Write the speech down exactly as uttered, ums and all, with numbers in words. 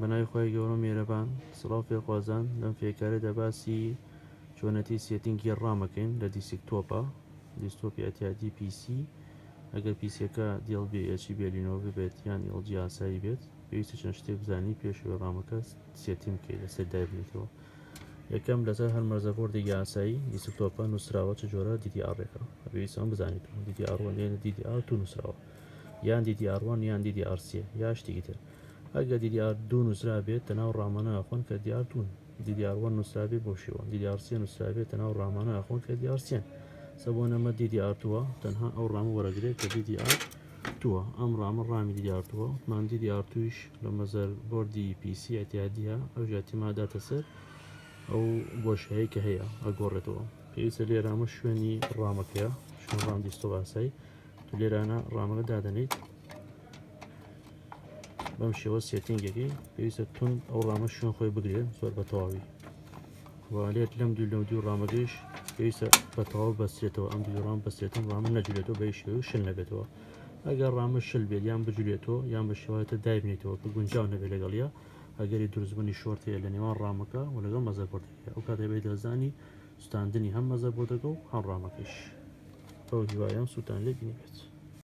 بەناوی خوای گەورە و میهرەبان. سڵاو فێرخوازان، لەم فێرکاریەدا باسی چۆنەتی setting ی RAM ەکەین لە desktop ە، desktop ی ئەتیادی PC. ئەگەر PC یەکە Dell بێ، HP بێ، Lenovo بێت یان LG ئاسایی بێت، پێویستە چەند شتێک بزانی پێشەوەی RAM ەکە setting بکەیت، لەسەر دایبنیتەوە. یەکەم، لەسەر هەر motherboard ێکی ئاسایی desktop ە نووسراوە چ جۆرە DDR ێکە. پێویستە ئەم بزانیت DDR one یان DDR two نووسراوە، یان DDR one یان DDR سێ یا شتێکی تر. ئەگەر DDR دوو نووسرا بێت، تەناو RAM انە ئەخۆن کە DDR دوون. DDR one نووسرا بێت بۆ شێوە، DDR سێ نووسرا بێت، تەناو RAM انە ئەخۆن کە DDR سێن. سەبۆ نەمە DDR دووە، تەنها ئەو RAM ە وەرەگرێت کە DDR دووە. ئەم RAM ە RAM ی DDR دووە. مان DDR دوویش لە motherboard ی PC ئەتیادیە، ئەو ژاتیما داتە سەر ئەو بۆشایی کە هەیە ئەگۆڕێتەوە. پێویستە لێرامە شوێنی RAM ەکەیە، شوێن RAM desktop ئاسایی. تو لێرانە RAM ەکە دادەنیت بەم شێوە setting ەکەی. پێویستە تون ئەو RAM ە شوێن خۆی بگرێت زۆر بە تەواوی. والێت لەم دوو لەم دوو RAM ەکەیش پێویستە بە تەواو بەسترێتەوە. ئەم دوو RAM بەسترێتم، RAM ە نەجولێتەوە بە شێوە شل نەبێتەوە. ئەگەر RAM ە شل بێت یان بجولێتەوە یان بە شێوەتە دایبنێتەوە کە گونجاو نەبێت لەگەڵیە، ئەگەری دروستبوونی short هەیە لە نێوان RAM ەکە و لەگەڵ motherboard ەکە. ئەو کاتە بێت دەزانی سوتاندنی هەم motherboard ەکە و هەم RAM ەکەش. بەو هیوایەم سووتان لێ بینی بێت.